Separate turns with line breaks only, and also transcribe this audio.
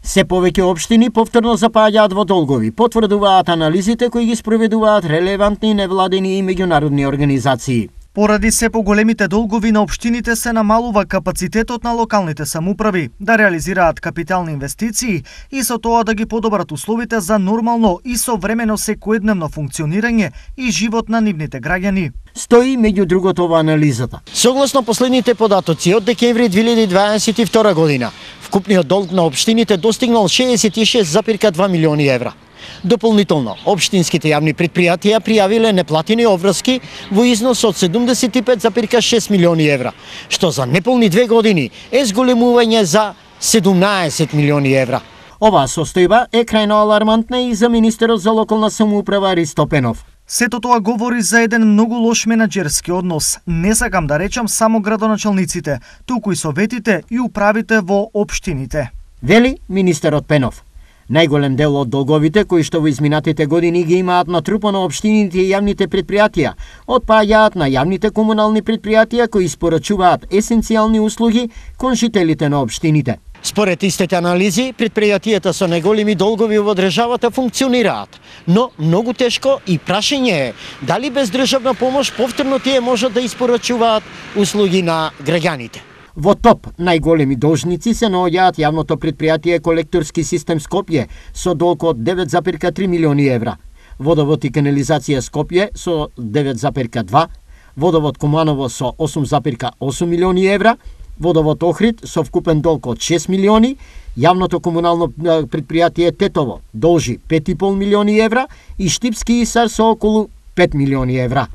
Се повеќе општини повторно запаѓаат во долгови, потврдуваат анализите кои ги спроведуваат релевантни невладени и меѓународни организации.
Поради се поголемите долгови на општините се намалува капацитетот на локалните самоуправи да реализираат капитални инвестиции и со тоа да ги подобрат условите за нормално и современо секојдневно функционирање и живот на нивните граѓани.
Стои меѓу другото во анализата.
Согласно последните податоци од декември 2022 година, вкупниот долг на општините достигнал 66,2 милиони евра. Дополнително, општинските јавни предпријатија пријавиле неплатени обврски во износ од 75,6 милиони евра, што за неполни 2 години е зголемување за 17 милиони евра.
Оваа состојба е крајно алармантна и за министерот за локална самоуправа Ристо Пенов.
Сето тоа говори за еден многу лош менаџерски однос. Не сакам да речам само градоначалниците, туку и советите и управите во општините.
Вели министерот Пенов. Најголем дел од долговите кои што во изминатите години ги имаат натрупано општините и јавните предпријатија, отпаѓаат на јавните комунални предпријатија кои испорачуваат есенцијални услуги кон жителите на општините.
Според истите анализи, предпријатијата со најголеми долгови во државата функционираат, но многу тешко и прашање е дали без државна помош повторно тие можат да испорачуваат услуги на граѓаните.
Во топ најголеми должници се наоѓаат јавното предпријатие Колекторски систем Скопје со долг од 9,3 милиони евра, Водовод и канализација Скопје со 9,2, Водовод Куманово со 8,8 милиони евра, Водовод Охрид со вкупен долг од 6 милиони, јавното комунално предпријатие Тетово должи 5,5 милиони евра и Штипски Исар со околу 5 милиони евра.